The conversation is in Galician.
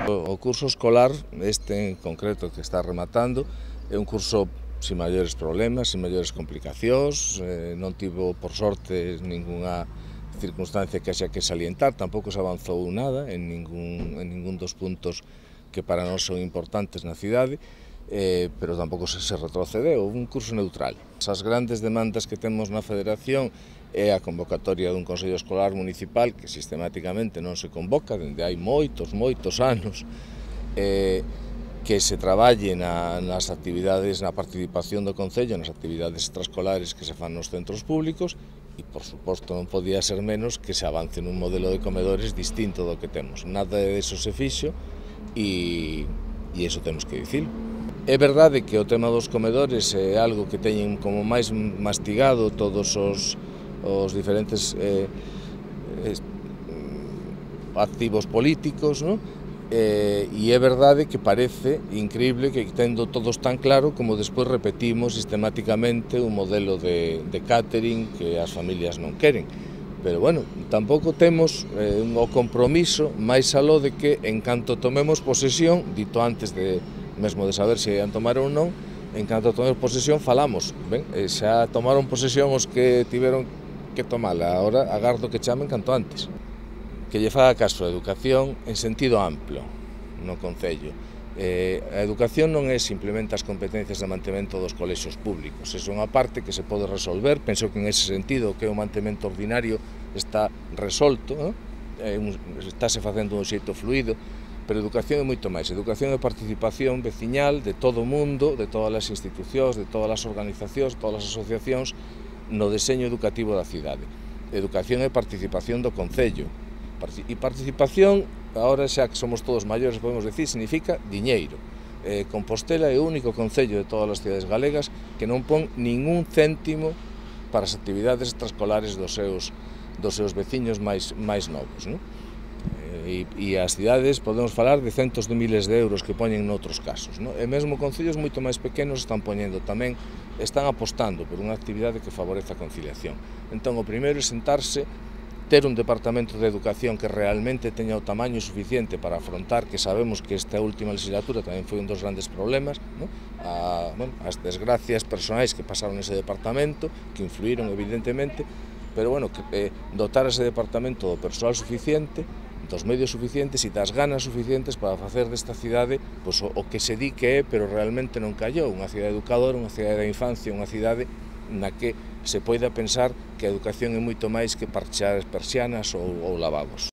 O curso escolar, este en concreto que está rematando, é un curso sin maiores problemas, sin maiores complicacións, non tivo, por sorte, ningunha circunstancia que haxa que salientar, tampouco se avanzou nada en ningún dos puntos que para nós son importantes na cidade, pero tampouco se retrocedeu, un curso neutral. As grandes demandas que temos na Federación é a convocatoria dun Consello Escolar Municipal que sistemáticamente non se convoca, dende hai moitos anos, que se traballe nas actividades, na participación do Concello, nas actividades extraescolares que se fan nos centros públicos e, por suposto, non podía ser menos que se avance nun modelo de comedores distinto do que temos. Nada de eso se fixo e iso temos que dicilo. É verdade que o tema dos comedores é algo que teñen como máis mastigado todos os diferentes activos políticos, non? E é verdade que parece increíble que tendo todos tan claro como despois repetimos sistemáticamente un modelo de catering que as familias non queren. Pero, bueno, tampouco temos o compromiso máis aló de que, en canto tomemos posesión, dito antes mesmo de saber se ian tomar ou non, en canto tomemos posesión falamos. Ben, xa tomaron posesión os que tiveron que tomala, agora agardo que chamen canto antes. Que lle faga caso a educación en sentido amplo no Concello. A educación non é simplemente as competencias de mantemento dos colexios públicos, é unha parte que se pode resolver, penso que en ese sentido que o mantemento ordinario está resolto, estáse facendo un xeito fluido, pero educación é moito máis. Educación é participación veciñal de todo o mundo, de todas as institucións, de todas as organizacións, de todas as asociacións no deseño educativo da cidade. Educación é participación do Concello. E participación, agora xa que somos todos maiores, podemos decir, significa diñeiro. Compostela é o único concello de todas as cidades galegas que non pon ningún céntimo para as actividades extraescolares dos seus veciños máis novos, non? E as cidades podemos falar de centos de miles de euros que poñen noutros casos, non? E mesmo concellos moito máis pequenos están poñendo tamén, están apostando por unha actividade que favorece a conciliación. Entón, o primeiro é sentarse, ter un departamento de educación que realmente teña o tamaño suficiente para afrontar, que sabemos que esta última legislatura tamén foi un dos grandes problemas, non? As desgracias personais que pasaron nese departamento, que influíron evidentemente, pero bueno, dotar ese departamento do persoal suficiente, dos medios suficientes e das ganas suficientes para facer desta cidade o que se di que é, pero realmente non callou, unha cidade educadora, unha cidade da infancia, unha cidade na que se poida pensar que a educación é moito máis que parchear as persianas ou lavabos.